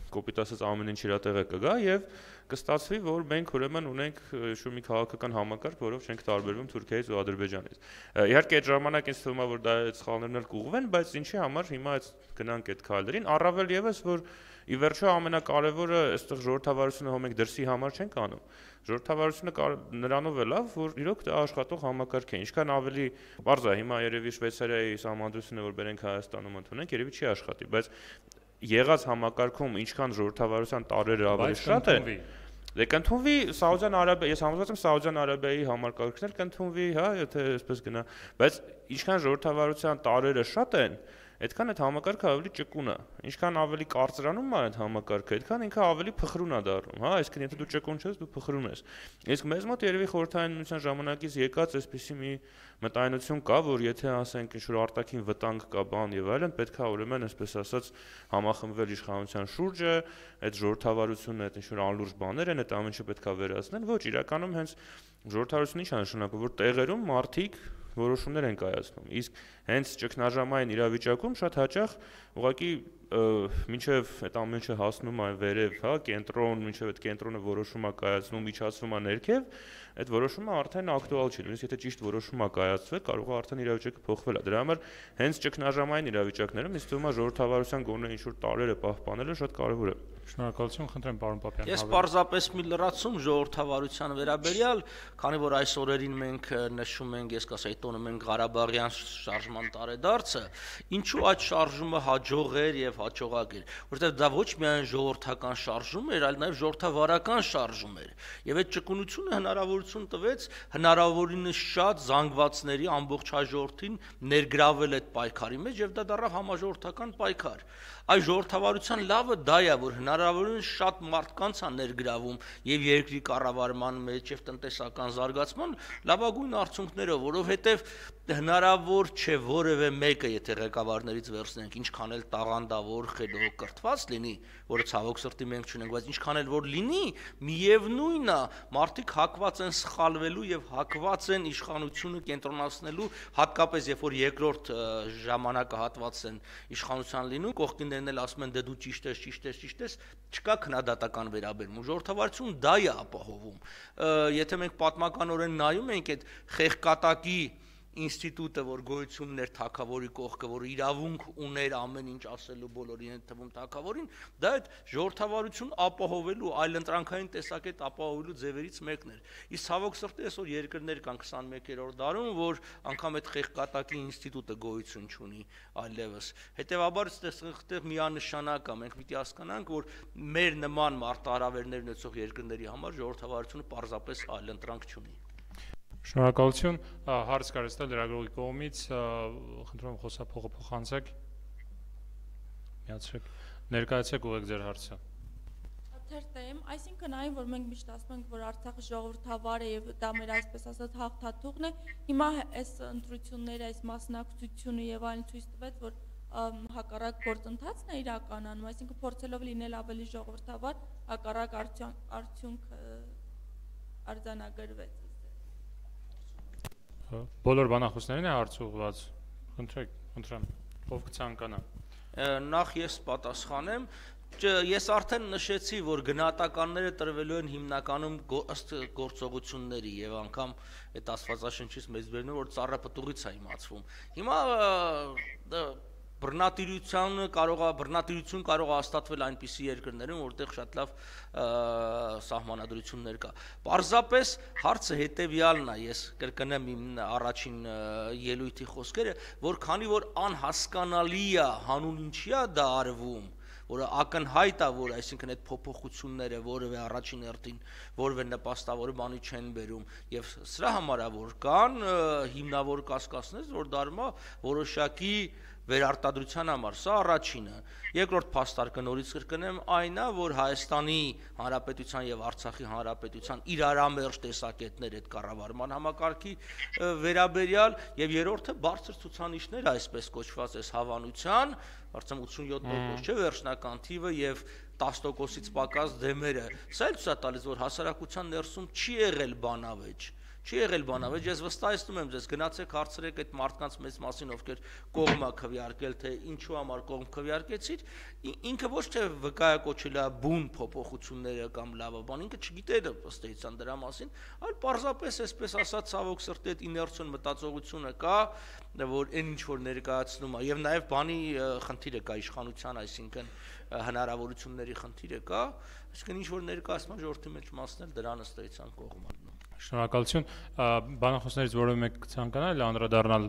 կոպիտ ասած ամեն ինչ իր տեղը կգա եւ կստացվի, որ մենք ուրեմն ունենք շուտ մի քաղաքական համակարգ, որով չենք տարբերվում Թուրքիայից ու Ադրբեջանից։ Իհարկե այդ ժամանակ ինձ թվում է, որ դա այդ սխալներն էլ կուղղվեն, բայց ինչի համար հիմա այդ գնանք այդ քայլերին, առավել եւս որ ի վերջո ամենակարևորը այստեղ ժողովրդավարությունը հո մենք դրսի համար չենք անում։ Ժողովրդավարությունը նրանով է լավ, որ իրոք դա աշխատող համակարգ է։ Ինչքան ավելի բարձ է հիմա երևի Շվեյցարիայի սահմանադրությունը, որ բերենք Հայաստանում ընդունենք, երևի չի աշխատի, բայց եղած համակարգում ինչքան ժողովրդավարության տարերը ավելի շատ է, դե կընդունվի Սաուդյան Արաբիա, ես համոզված եմ Սաուդյան Արաբիայի համակարգն էլ կընդունվի, հա, եթե այսպես գնա, բայց ինչքան ժողովրդավարության տարերը շատ են, այդքան այդ համակարգը ավելի ճկուն է։ Ինչքան ավելի կարծրանում է այդ համակարգը, այդքան ինքը ավելի փխրուն է դառնում, հա, այսինքն եթե դու ճկուն ես, դու փխրուն ես։ Իսկ մեզ մոտ երևի խորհրդային միության ժամանակից եկած այսպիսի մի մտայնություն կա, որ եթե ասենք ինչ-որ արտաքին վտանգ կա, բան եւ այլն, պետք է ուրեմն այսպես ասած համախմբվել իշխանության շուրջը, այդ ժողովրդավարությունը, այդ ինչ-որ անլուրջ բաներ են, այդ ամեն ինչը պետք է վերացնել։ Ոչ, իրականում հենց ժողովրդավարությունը ինչ է նշանակում, որ տեղերում մարդիկ որոշումներ են կայացնում։ Իսկ հենց ճգնաժամային իրավիճակում շատ հաճախ ուղղակի մինչև այդ ամեն ինչը հասնում է վերև, հա, կենտրոն, մինչև այդ կենտրոնը որոշում է կայացնում, միջացվում է ներքև, այդ որոշումը արդեն ակտուալ չի, նույնիսկ եթե ճիշտ որոշում է կայացվել, կարող է արդեն իրավիճակը փոխվել է։ Դրա համար հենց ճգնաժամային իրավիճակներում ինձ թվում է ժողովրդավարության գոնե ինչ-որ տարերը պահպանելը շատ կարևոր է։ Շնորհակալություն, խնդրեմ պարոն Պապյան։ Ես պարզապես մի լրացում ժողովրդավարության վերաբերյալ, քանի որ այս օրերին մենք նշում ենք, ես կասեի տոնում ենք Ղարաբաղյան շարժման տարեդարձը, ինչու այդ շարժումը հաջող էր եւ հաջողակ էր, որովհետեւ դա ոչ միայն ժողովրդական շարժում էր, այլ նաեւ ժողովրդավարական շարժում էր։ Եվ այդ ճկունությունը հնարավորություն տվեց հնարավորինս շատ զանգվածների ամբողջ հաջորդին ներգրավել այդ պայքարի մեջ եւ դա դառավ համաժողովրդական պայքար։ Այս ժողովրդավարության լավը դա է, որ հնարավոր հնարավորինս շատ մարդկանց է ներգրավում եւ երկրի կառավարման մեջ եւ տնտեսական զարգացման լավագույն արդյունքներով, որովհետեւ հնարավոր չէ որևէ մեկը, եթե ղեկավարներից վերցնենք, ինչքան էլ տաղանդավոր, խելոք, կրթված լինի, որը ցավոք սրտի մենք չունենք, բայց ինչքան էլ որ լինի, միևնույնն է, մարդիկ հակված են սխալվելու եւ հակված են իշխանությունը կենտրոնացնելու, հատկապես երբ որ երկրորդ ժամանակահատվածն են իշխանության լինում, կողքիններն էլ ասում են դե դու ճիշտ ես, ճիշտ ես, ճիշտ ես, չկա քննադատական վերաբերում։ Ժողովրդավարություն դա է ապահովում։ Եթե մենք պատմականորեն նայում ենք այդ խեղկատակի ինստիտուտը, որ գոյություն ուներ թագավորի կողքը, որ իրավունք ուներ ամեն ինչ ասելու բոլորին, այդ թվում թագավորին, դա այդ ժողովրդավարություն ապահովելու, այլընտրանքային տեսակետ ապահովելու ձևերից մեկն էր։ Իսկ ցավոք սրտի այսօր երկրներ կան քսաներկերորդ դարում, որ անգամ այդ խեղկատակի ինստիտուտը գոյություն չունի այլևս։ Հետևաբար այստեղ միանշանակ է, մենք պիտի հասկանանք, որ մեր նման մարտահրավերներ ունեցող երկրների համար ժողովրդավարությունը պարզապես այլընտրանք չունի։ Շնորհակալություն, հարց կար ստել լրագրողի կողմից, խնդրում եմ խոսափողը փոխանցեք, միացրեք, ներկայացեք ուղեք ձեր հարցը։ Թերթեմ, այսինքն այն, որ մենք միշտ ասում ենք, որ Արցախը ժողովրդավար է եւ դա մեր այսպես ասած հաղթաթուղթն է, հիմա այս ընտրությունները, այս մասնակցությունը եւ այն ցույց տվեց, որ հակառակ գործընթացն է իրականում, այսինքն փորձելով լինել ավելի ժողովրդավար, հակառակ արդյունք արձանագրվեց։ Բոլոր բանախոսներին է հարց ուղղված, խնդրեք, խնդրեմ, ով կցանկանա։ Նախ ես պատասխանեմ, ես արդեն նշեցի, որ գնահատականները տրվելու են հիմնականում ըստ գործողությունների եւ անգամ այդ աստվածաշնչից մեծ բերնում որ ծառը պտուղից է իմացվում։ Հիմա բռնատիրությունը կարող է բռնատիրություն կարող է հաստատվել այնպիսի երկրներում, որտեղ շատ լավ սահմանադրություններ կա։ Պարզապես հարցը հետեւյալն է, ես կրկնեմ իմ առաջին ելույթի խոսքերը, որ քանի որ անհասկանալի է հանուն ինչի է դա արվում, որը ակնհայտ է, որ այսինքն այդ փոփոխությունները որևէ առաջին հերթին որևէ նպաստավոր բանի չեն բերում եւ սրա համար է որ կան հիմնավոր կասկածներ, որ դարմա որոշակի վերարտադրության համար, սա առաջինը։ Երկրորդ փաստարկը նորից կրկնեմ այն է, որ Հայաստանի Հանրապետության եւ Արցախի Հանրապետության իրարամերժ տեսակետներ այդ կառավարման համակարգի վերաբերյալ եւ երրորդը բարձր ցուցանիշներ, այսպես կոչված այս հավանության, արդեն ութսունյոթ տոկոս չէ վերջնական թիվը եւ տասը տոկոսից պակաս դեմերը։ Սա էլ ցույց է տալիս, որ հասարակության ներսում չի եղել բանավեճ։ Չի եղել բանավեճ, ես վստահեցնում եմ ձեզ, գնացեք հարցրեք այդ մարդկանց մեծ մասին, ովքեր կողմ է քվեարկել, թե ինչու համար կողմ քվեարկեցիր, ինքը ոչ թե վկայակոչել է բուն փոփոխությունները կամ լավը բան, ինքը չգիտեր ըստ էության դրա մասին, այլ պարզապես այսպես ասած ցավոք սրտի այդ իներցիոն մտածողությունը կա, որ այն ինչ որ ներկայացնում է, եւ նաեւ բանի խնդիրը կա իշխանության, այսինքն հնարավորությունների խնդիրը կա, այսինքն ինչ որ ներկայացնում է ժողովրդի մեջ մասն էլ դրան ըստ էության կողմ է։ Շնորհակալություն, բանախոսներից որևէ մեկ կցանկանա անդրադառնալ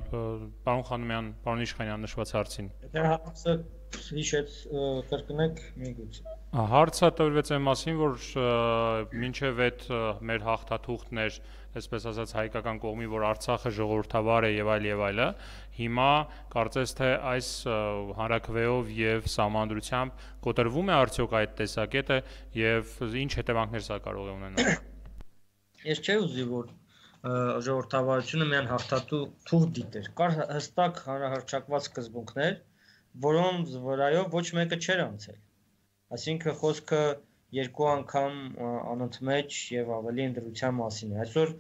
պարոն Խանոմյան, պարոն Իշխանյան նշված հարցին։ Եթե հարցը հիշեց կրկնեք միգուցե։ Հարցը տվեց այն մասին, որ մինչև այդ մեր հաղթաթուղթն էր, այսպես ասած հայկական կողմի, որ Արցախը ժողովրդավար է եւ այլ եւ այլը, հիմա կարծես թե այս հանրաքվեով եւ սահմանադրությամբ կոտրվում է արդյոք այդ տեսակետը եւ ինչ հետևանքներ սա կարող է ունենալ։ Ես չէի ուզի, որ ժողովրդավարությունը միայն հաղթատու թուղթ դիտեր։ Կար հստակ հանրահռչակված սկզբունքներ, որոնց վրայով ոչ մեկը չէր անցել։ Այսինքն խոսքը երկու անգամ անընդմեջ եւ ավելի ընդրության մասին է։ Այսօր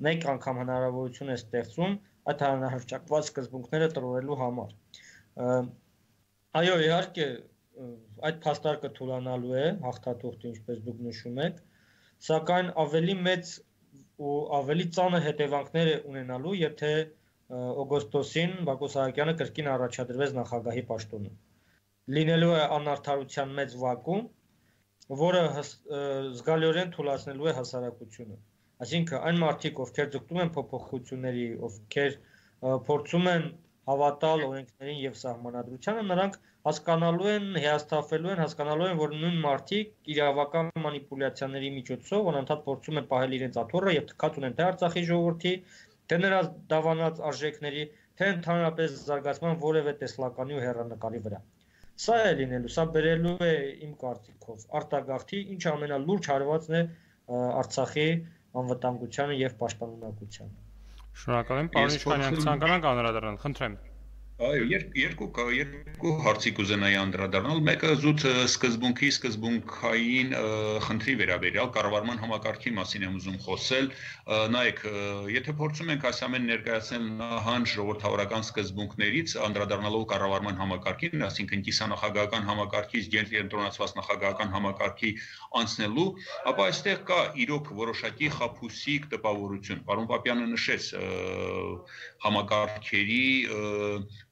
մեկ անգամ հնարավորություն է ստեղծում այդ հանրահռչակված սկզբունքները տրվելու համար։ Այո, իհարկե, այդ փաստարկը թուլանալու է հաղթաթուղթը, ինչպես դուք նշում եք, սակայն ավելի մեծ ու ավելի ծանր հետևանքներ է ունենալու, եթե օգոստոսին Բակո Սահակյանը կրկին առաջադրվեց նախագահի պաշտոնում։ Լինելու է անարդարության մեծ վակուում, որը զգալիորեն թուլացնելու է հասարակությունը։ Այսինքն այն մարդիկ, ովքեր ձգտում են փոփոխությունների, ովքեր փորձում են հավատալ օրենքներին եւ սահմանադրությանը, նրանք հասկանալու են, հիասթափվելու են, հասկանալու են, որ նույն մարդիկ իրավական մանիպուլյացիաների միջոցով անընդհատ փորձում են պահել իրենց աթոռը եւ թքած ունեն թե Արցախի ժողովրդի, թե նրա դավանած արժեքների, թե ընդհանրապես զարգացման որևէ տեսլականի ու հեռանկարի վրա։ Սա է լինելու, սա բերելու է իմ կարծիքով արտագաղթի, ինչ ամենալուրջ հարվածն է Արցախի անվտանգությանը եւ պաշտպանունակությանը։ Շնորհակալ եմ, պարոն Իշխանյան, ցանկանանք անդրադառնալ, խնդրեմ։ Այո, երկու երկու հարցի կուզենայի անդրադառնալ։ Մեկը զուտ սկզբունքի սկզբունքային խնդրի վերաբերյալ կառավարման համակարգի մասին եմ ուզում խոսել։ Նայեք, եթե փորձում ենք այս ամեն ներկայացնել նահանջ ժողովրդավարական սկզբունքներից, անդրադառնալով կառավարման համակարգին, այսինքն կիսանախագահական համակարգից կենտրոնացված նախագահական համակարգի անցնելու, ապա այստեղ կա իրոք որոշակի խաբուսիկ տպավորություն։ Պարոն Պապյանը նշեց համակարգերի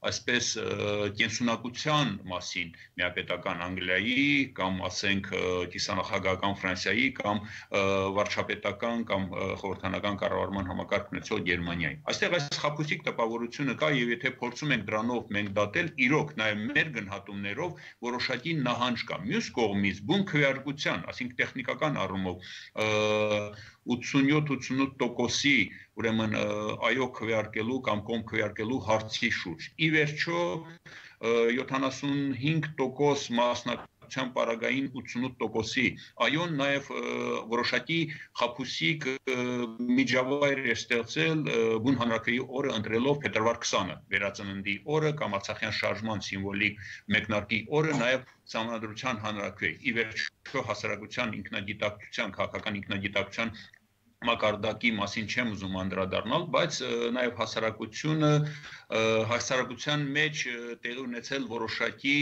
այսպես կենսունակության մասին միապետական Անգլիայի կամ ասենք կիսանախագահական Ֆրանսիայի կամ վարչապետական կամ խորհրդանական կառավարման համակարգ ունեցող Գերմանիայի։ Այստեղ այս խաբուսիկ տպավորությունը կա եւ եթե փորձում ենք դրանով մենք դատել, իրոք նաեւ մեր գնահատումներով որոշակի նահանջ կա։ Մյուս կողմից բուն քվեարկության, այսինքն տեխնիկական առումով ութսունյոթ ութսունութ տոկոսի ուրեմն այո քվեարկելու կամ կոմ քվեարկելու հարցի շուրջ։ Ի վերջո յոթանասունհինգ տոկոս մասնակցության պարագային ութսունութ տոկոսի այոն նաև որոշակի խաբուսիկ միջավայր է ստեղծել բուն հանրաքվեի օրը ընտրելով փետրվար քսանը վերածննդի օրը կամ Արցախյան շարժման սիմվոլիկ մեկնարկի օրը նաև Սահմանադրության հանրաքվեի։ Ի վերջո հասարակության ինքնագիտակցության, քաղաքական ինքնագիտակցության մակարդակի մասին չեմ ուզում անդրադառնալ, բայց նաև հասարակությունը հասարակության մեջ տեղի ունեցել որոշակի,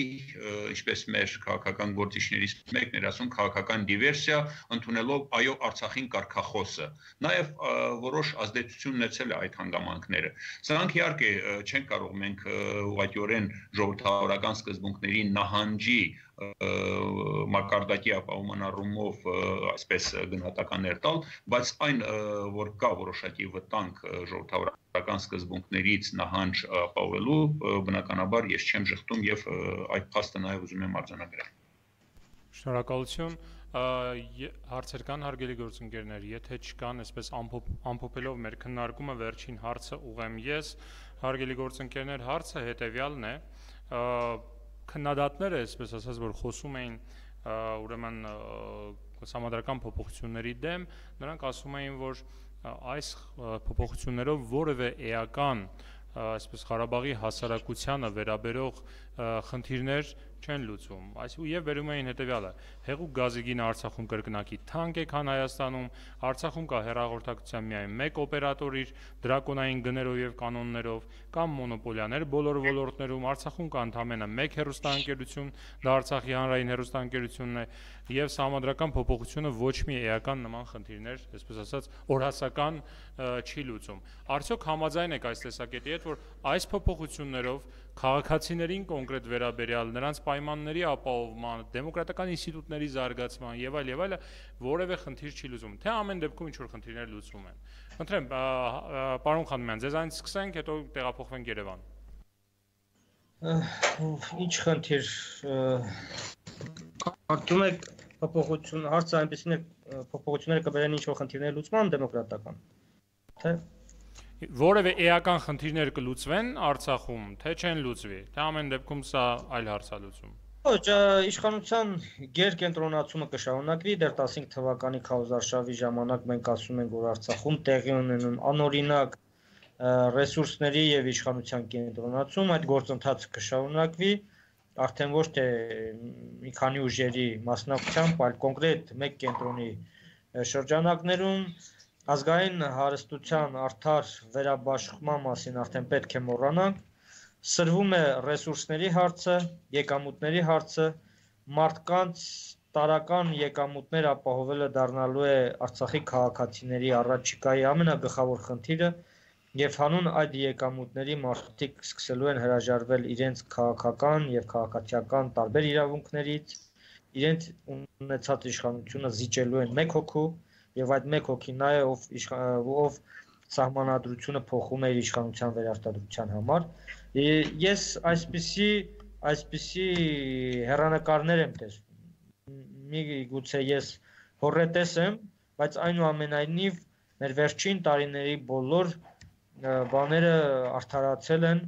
ինչպես մեր քաղաքական գործիչներից մեկն էր ասում, քաղաքական դիվերսիա, ընդունելով այո Արցախին կարգախոսը։ Նաև որոշ ազդեցություն ունեցել է այդ հանգամանքները։ Սրանք իհարկե չեն կարող մենք ուղղակիորեն ժողովրդավարական սկզբունքների նահանջի մակարդակի ապահովման առումով այսպես գնահատականներ տալ, բայց այն որ կա որոշակի վտանգ ժողովրդավարական սկզբունքներից նահանջ ապահովելու, բնականաբար ես չեմ ժխտում եւ այդ փաստը նաեւ ուզում եմ արձանագրել։ Շնորհակալություն։ Հարցեր կան, հարգելի գործընկերներ, եթե չկան, այսպես ամփոփելով մեր քննարկումը, վերջին հարցը ուղեմ ես, հարգելի գործընկերներ, հարցը հետեւյալն է, քննադատները, այսպես ասած, որ խոսում էին ուրեմն սահմանադրական փոփոխությունների դեմ, նրանք ասում էին, որ այս փոփոխություններով որևէ էական, այսպես Ղարաբաղի հասարակությանը վերաբերող խնդիրներ չեն լուծում։ Այսինքն եւ վերում էին հետեւյալը. հեղուկ գազի գինը Արցախում կրկնակի թանկ է, քան Հայաստանում, Արցախում կա հեռահաղորդակցության միայն մեկ օպերատոր իր դրակոնային գներով եւ կանոններով, կամ մոնոպոլիաներ բոլոր ոլորտներում, Արցախում կա ընդամենը մեկ հեռուստաընկերություն, դա Արցախի հանրային հեռուստաընկերությունն է, եւ սահմանադրական փոփոխությունը ոչ մի էական նման խնդիրներ, այսպես ասած, օրհասական չի լուծում։ Արդյոք համաձայն եք այս տեսակետի հետ, որ այս փոփոխություններով քաղաքացիներին կոնկրետ վերաբերյալ նրանց պայմանների ապահովման, դեմոկրատական ինստիտուտների զարգացման եւ այլ եւ այլը որևէ խնդիր չի լուծում, թե ամեն դեպքում ինչ որ խնդիրներ լուծվում են։ Խնդրեմ, պարոն Խանոմյան, ձեզանից սկսենք, հետո տեղափոխվենք Երևան։ Ինչ խնդիր կարծում եք փոփոխություն հարցը այնպեսին է փոփոխությունները կբերեն ինչ որ խնդիրներ լուծման դեմոկրատական, թե որևէ էական խնդիրներ կլուծվեն Արցախում, թե չեն լուծվի, թե ամեն դեպքում սա այլ հարցալուծում։ Ոչ, իշխանության գերկենտրոնացումը կշարունակվի, դեռ տասնհինգ թվականի քարոզարշավի ժամանակ մենք ասում ենք, որ Արցախում տեղի ունենում անօրինակ ռեսուրսների եւ իշխանության կենտրոնացում, այդ գործընթացը կշարունակվի, արդեն ոչ թե մի քանի ուժերի մասնակցությամբ, այլ կոնկրետ մեկ կենտրոնի շրջանակներում ազգային հարստության արդար վերաբաշխման մասին արդեն պետք է մոռանանք, սրվում է ռեսուրսների հարցը, եկամուտների հարցը, մարդկանց տարական եկամուտներ ապահովելը դառնալու է Արցախի քաղաքացիների առաջիկայի ամենագլխավոր խնդիրը եւ հանուն այդ եկամուտների մարդիկ սկսելու են հրաժարվել իրենց քաղաքական եւ քաղաքացիական տարբեր իրավունքներից, իրենց ունեցած իշխանությունը զիջելու են մեկ հոգու եւ այդ մեկ հոգին նա է ով ով սահմանադրությունը փոխում է իր իշխանության վերարտադրության համար։ Ես այսպիսի այսպիսի հեռանկարներ եմ տեսնում։ Միգուցե ես հորետես եմ, բայց այնուամենայնիվ մեր վերջին տարիների բոլոր բաները արդարացել են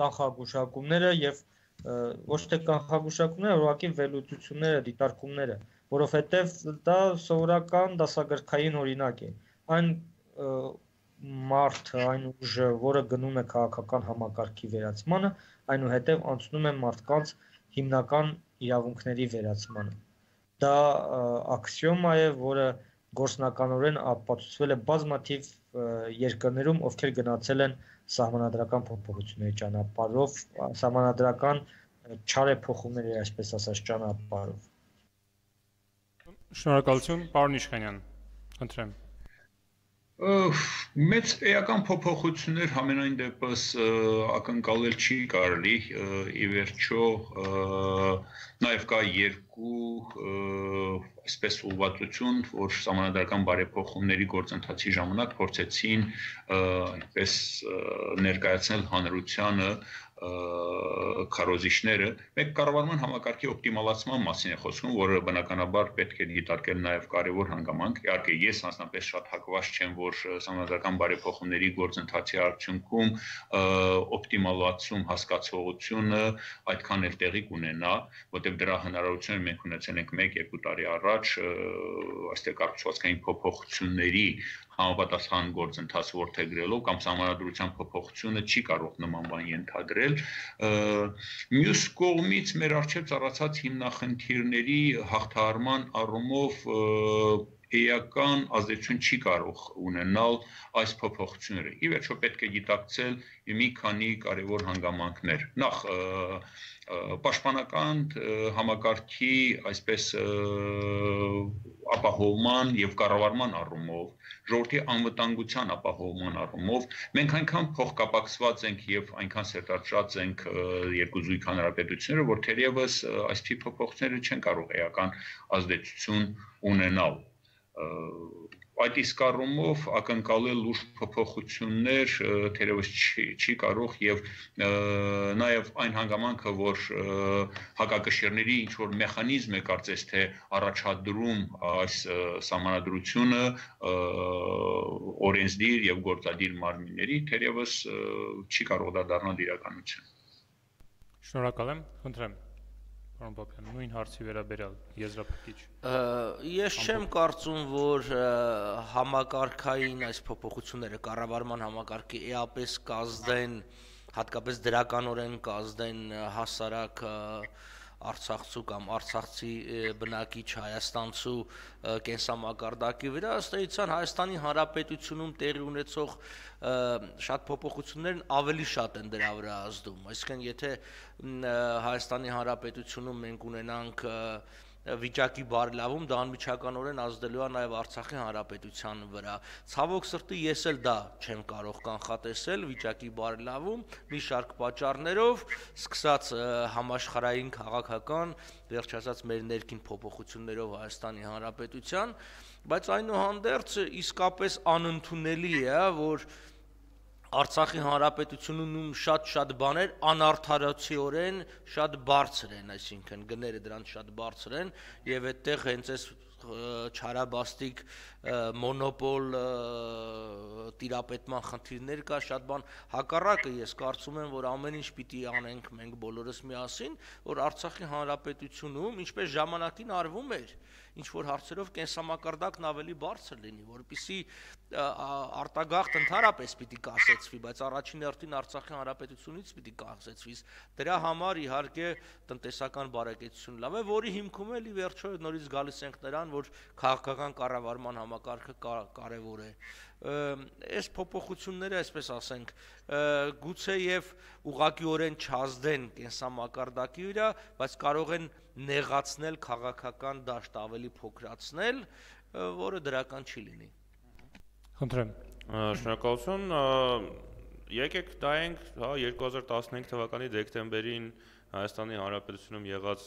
կանխագուշակումները եւ ոչ թե կանխագուշակումները, ուղղակի վերլուծությունները, դիտարկումները, որովհետև դա սովորական դասագրքային օրինակ է։ Այն մարդը, այն ուժը, որը գնում է քաղաքական համակարգի վերացմանը, այնուհետև անցնում է մարդկանց հիմնական իրավունքների վերացմանը։ Դա աքսիոմա է, որը գործնականորեն ապացուցվել է բազմաթիվ երկրներում, ովքեր գնացել են սահմանադրական փոփոխությունների ճանապարհով, սահմանադրական չարեփոխումների, այսպես ասած, ճանապարհով։ Շնորհակալություն, պարոն Իշխանյան, խնդրեմ։ Մեծ էական փոփոխություններ համենայն դեպս ակնկալել չի կարելի, ի վերջո նաև կա երկու այսպես ուղղվածություն, որ սահմանադրական բարեփոխումների գործընթացի ժամանակ փորձեցին այսպես ներկայացնել հանրությանը քարոզիչները, մեկ կառավարման համակարգի օպտիմալացման մասին է խոսում, որը բնականաբար պետք է դիտարկել նաև կարևոր հանգամանք։ Իհարկե, ես անձնապես շատ հակված չեմ, որ սահմանադրական բարեփոխումների գործընթացի արդյունքում օպտիմալացում հասկացողությունը այդքան էլ տեղի կունենա, որտեղ դրա հնարավորությունը մենք ունեցել ենք մեկ-երկու տարի առաջ, այստեղ կառուցվածքային փոփոխությունների համապատասխան գործընթաց որդեգրելով կամ սահմանադրության փոփոխությունը չի կարող նման բան ենթադրել։ Մյուս կողմից մեր առջև ծառացած հիմնախնդիրների հաղթահարման առումով էական ազդեցություն չի կարող ունենալ այս փոփոխությունները։ Ի վերջո պետք է գիտակցել մի քանի կարևոր հանգամանքներ։ Նախ պաշտպանական համակարգի այսպես ապահովման եւ կառավարման առումով, ժողովրդի անվտանգության ապահովման առումով մենք այնքան փոխկապակցված ենք եւ այնքան սերտաճած ենք երկու զույգ հանրապետությունները, որ թերևս այսպիսի փոփոխությունները չեն կարող էական ազդեցություն ունենալ։ Այդ իսկ առումով ակնկալել լուրջ փոփոխություններ թերևս չի կարող եւ նաեւ այն հանգամանքը, որ հակակշիռների ինչ որ մեխանիզմ է կարծես թե առաջադրում այս սահմանադրությունը օրենսդիր եւ գործադիր մարմինների, թերևս չի կարող դա դառնալ իրականություն։ Շնորհակալ եմ, խնդրեմ։ Պարոն Պապյան, նույն հարցի վերաբերյալ եզրափակիչ։ Ես չեմ կարծում, որ համակարգային այս փոփոխությունները կառավարման համակարգի էապես կազդեն, հատկապես դրականորեն կազդեն հասարակ արցախցու կամ արցախցի բնակիչ հայաստանցու կենսամակարդակի վրա, ըստ էության Հայաստանի Հանրապետությունում տեղի ունեցող շատ փոփոխություններն ավելի շատ են դրա վրա ազդում։ Այսինքն, եթե Հայաստանի Հանրապետությունում մենք ունենանք վիճակի բարելավում, դա անմիջականորեն ազդելու է նաև Արցախի Հանրապետության վրա։ Ցավոք սրտի ես էլ դա չեմ կարող կանխատեսել վիճակի բարելավում մի շարք պատճառներով, սկսած համաշխարհային քաղաքական, վերջ ասած մեր ներքին փոփոխություններով Հայաստանի Հանրապետության, բայց այնուհանդերձ իսկապես անընդունելի է, որ Արցախի Հանրապետությունում շատ-շատ բաներ անարդարացիորեն շատ բարձր են, այսինքն գները դրանց շատ բարձր են եւ այդտեղ հենց այս չարաբաստիկ մոնոպոլ տիրապետման խնդիրներ կա, շատ բան հակառակը ես կարծում եմ, որ ամեն ինչ պիտի անենք մենք բոլորս միասին, որ Արցախի Հանրապետությունում ինչպես ժամանակին արվում էր, ինչ որ հարցերով կենսամակարդակն ավելի բարձր լինի, որպեսզի արտագաղթ ընդհանրապես պիտի կասեցվի, բայց առաջին հերթին Արցախի Հանրապետությունից պիտի կասեցվի։ Դրա համար իհարկե տնտեսական բարեկեցություն լավ է, որի հիմքում էլ ի վերջո նորից գալիս ենք նրան, որ քաղաքական կառավարման համակարգը կարևոր է։ Այս փոփոխությունները, այսպես ասենք, գուցե եւ ուղղակիորեն չազդեն կենսամակարդակի վրա, բայց կարող են նեղացնել քաղաքական դաշտ ավելի փոքրացնել, որը դրական չի լինի։ Խնդրեմ։ Շնորհակալություն։ Եկեք նայենք, հա, երկու հազար տասնհինգ թվականի դեկտեմբերին Հայաստանի Հանրապետությունում եղած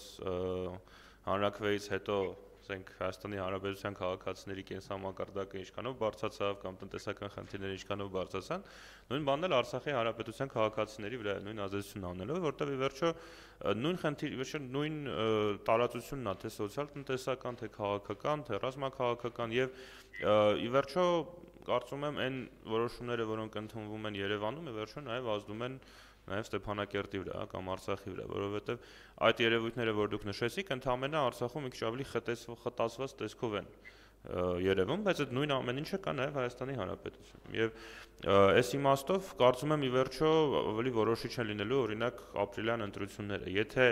հանրաքվեից հետո ասենք Հայաստանի Հանրապետության քաղաքացիների կենսամակարդակը ինչքանով բարձրացավ կամ տնտեսական խնդիրները ինչքանով բարձրացան, նույն բանն էլ Արցախի Հանրապետության քաղաքացիների վրա նույն ազդեցությունն անելով, որտեղ ի վերջո նույն խնդիր, ի վերջո նույն տարածությունն է, թե սոցիալ-տնտեսական, թե քաղաքական, թե ռազմաքաղաքական եւ ի վերջո կարծում եմ այն որոշումները, որոնք ընդունվում են Երևանում, ի վերջո նաեւ ազդում են նաև Ստեփանակերտի վրա կամ Արցախի վրա, որովհետև այդ երևույթները, որ դուք նշեցիք, ընդհանրապես Արցախում մի քիչ ավելի խտացված տեսքով են երևում, բայց այդ նույն ամեն ինչը կա նաև Հայաստանի Հանրապետությունում։ Եվ այս իմաստով կարծում եմ ի վերջո ավելի որոշիչ են լինելու օրինակ ապրիլյան ընտրությունները։ Եթե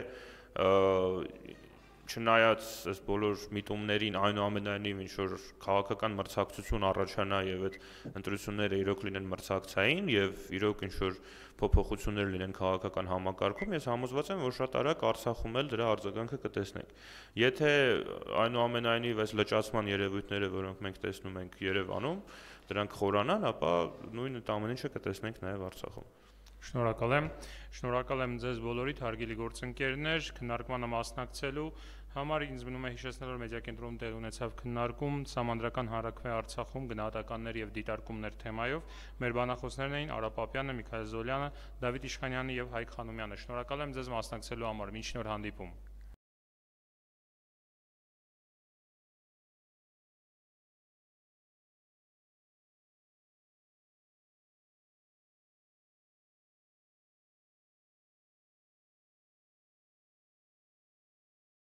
չնայած այս բոլոր միտումներին այնուամենայնիվ ինչ որ քաղաքական մրցակցություն առաջանա եւ այդ ընտրությունները իրոք լինեն մրցակցային եւ իրոք ինչ որ փոփոխություններ լինեն քաղաքական համակարգում, ես համոզված եմ, որ շատ արագ Արցախում էլ դրա արձագանքը կտեսնենք։ Եթե այնուամենայնիվ այս լճացման երևույթները, որոնք մենք տեսնում ենք Երևանում, դրանք խորանան, ապա նույն ամեն ինչը կտեսնենք նաեւ Արցախում։ Շնորհակալ եմ։ Շնորհակալ եմ ձեզ բոլորիդ հարգելի գործընկերներ, քննարկմանը մասնակցելու համար ինձ մնում է հիշեցնել, որ մեդիակենտրոնում տեղ ունեցավ քննարկում Սահմանադրական հանրաքվե Արցախում գնահատականներ եւ դիտարկումներ թեմայով։ Մեր բանախոսներն էին Արա Պապյանը, Միքայել Զոլյանը, Դավիթ Իշխանյանը եւ Հայկ Խանոմյանը։ Շնորհակալ եմ ձեզ մասնակցելու համար։ Մինչ նոր հանդիպում։